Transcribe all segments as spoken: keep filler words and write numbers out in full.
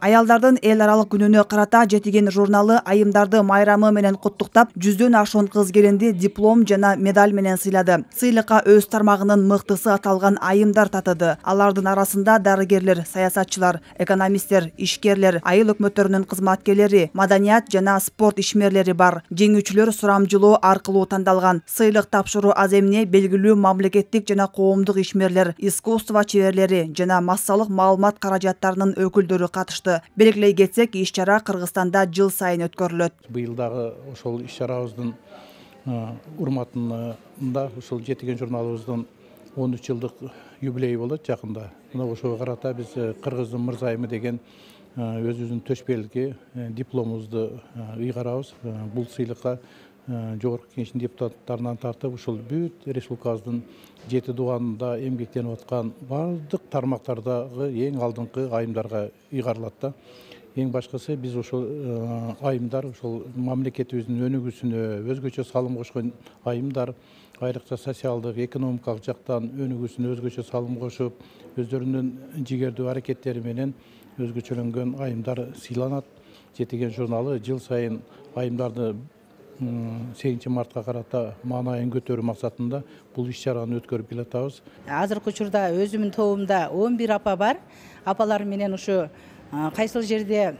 Аялдардын эл аралык күнүнө карата Жетиген журналы айымдарды майрамы менен куттуктап, жүздөн ашуун кыз келинди диплом жана медаль менен сыйлады. Сыйлыкка өз тармагынын мыктысы аталган айымдар татыды. Алардын арасында дарыгерлер, саясатчылар, экономисттер, ишкерлер, айыл өкмөттөрүнүн кызматкерлери, маданият жана спорт ишмерлери бар. Жеңүүчүлөр сурамжылоо аркылуу тандалган. Сыйлык тапшыруу аз эмне белгилүү мамлекеттик жана коомдук ишмерлер, искусство чеберлери жана массалык маалымат каражаттарынын өкүлдөрү катышты. Белгилей кетсек, иш-чара Кыргызстанда жыл сайын өткөрүлөт. Быйыл дагы ошол иш-чарабыздын урматында ушул Жетиген журналыбыздын он үч жылдык юбилейи болот жакында. Мына ошого карата биз Кыргыздын мырзайымы деген өзүбүздүн төшбелги дипломубузду ыйгарабыз. Бул сыйлыкка Жогорку Кеңештин депутаттарынан тартып, ушул бүт республикабыздын жети дубанында эмгектенип аткан бардык тармактардагы эң алдыңкы айымдарга ыйгарылат да. Эң башкысы биз ошол айымдар ошол мамлекетибиздин өнүгүүсүнө өзгөчө салым кошкон айымдар, айрыкча социалдык, экономикалык жактан өнүгүүсүнө өзгөчө салым кошуп, өздөрүнүн жигердүү аракеттери менен өзгөчөлөнгөн айымдар сыйланат. Жетиген журналы жыл сайын айымдарды сегизинчи мартка карата маанайын көтөрүү максатында бул иш-чараны өткөрүп келатабыз. Азыркы учурда өзүмдүн тобумда он бир апа бар. Апалар менен ушу кайсыл жерде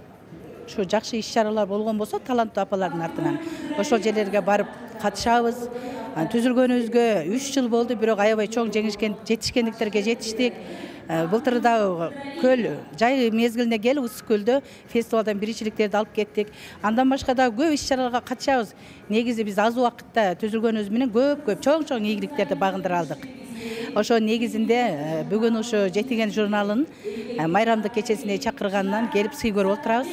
ушу жакшы иш-чаралар болгон болсо, таланттуу апалардын артынан ошол жерлерге барып катышабыз. Түзүлгөнүбүзгө үч жыл болду, бирок аябай чоң жеңишкен жетишкендиктерге жетиштик. Былтыр дагы көл жай мезгилине келип Ысык көлдө фестивалдан биринчиликтерди алып кеттик. Андан башка дагы көп иш-чараларга катышабыз. Негизи биз аз убакытта түзүлгөнүбүз менен көп-көп чоң-чоң ийгиликтерди багындыра алдык. Ошо негизинде бүгүн ушу Жетиген журналынын майрамдык кечесине чакырганынан келип сый көрүп отурабыз.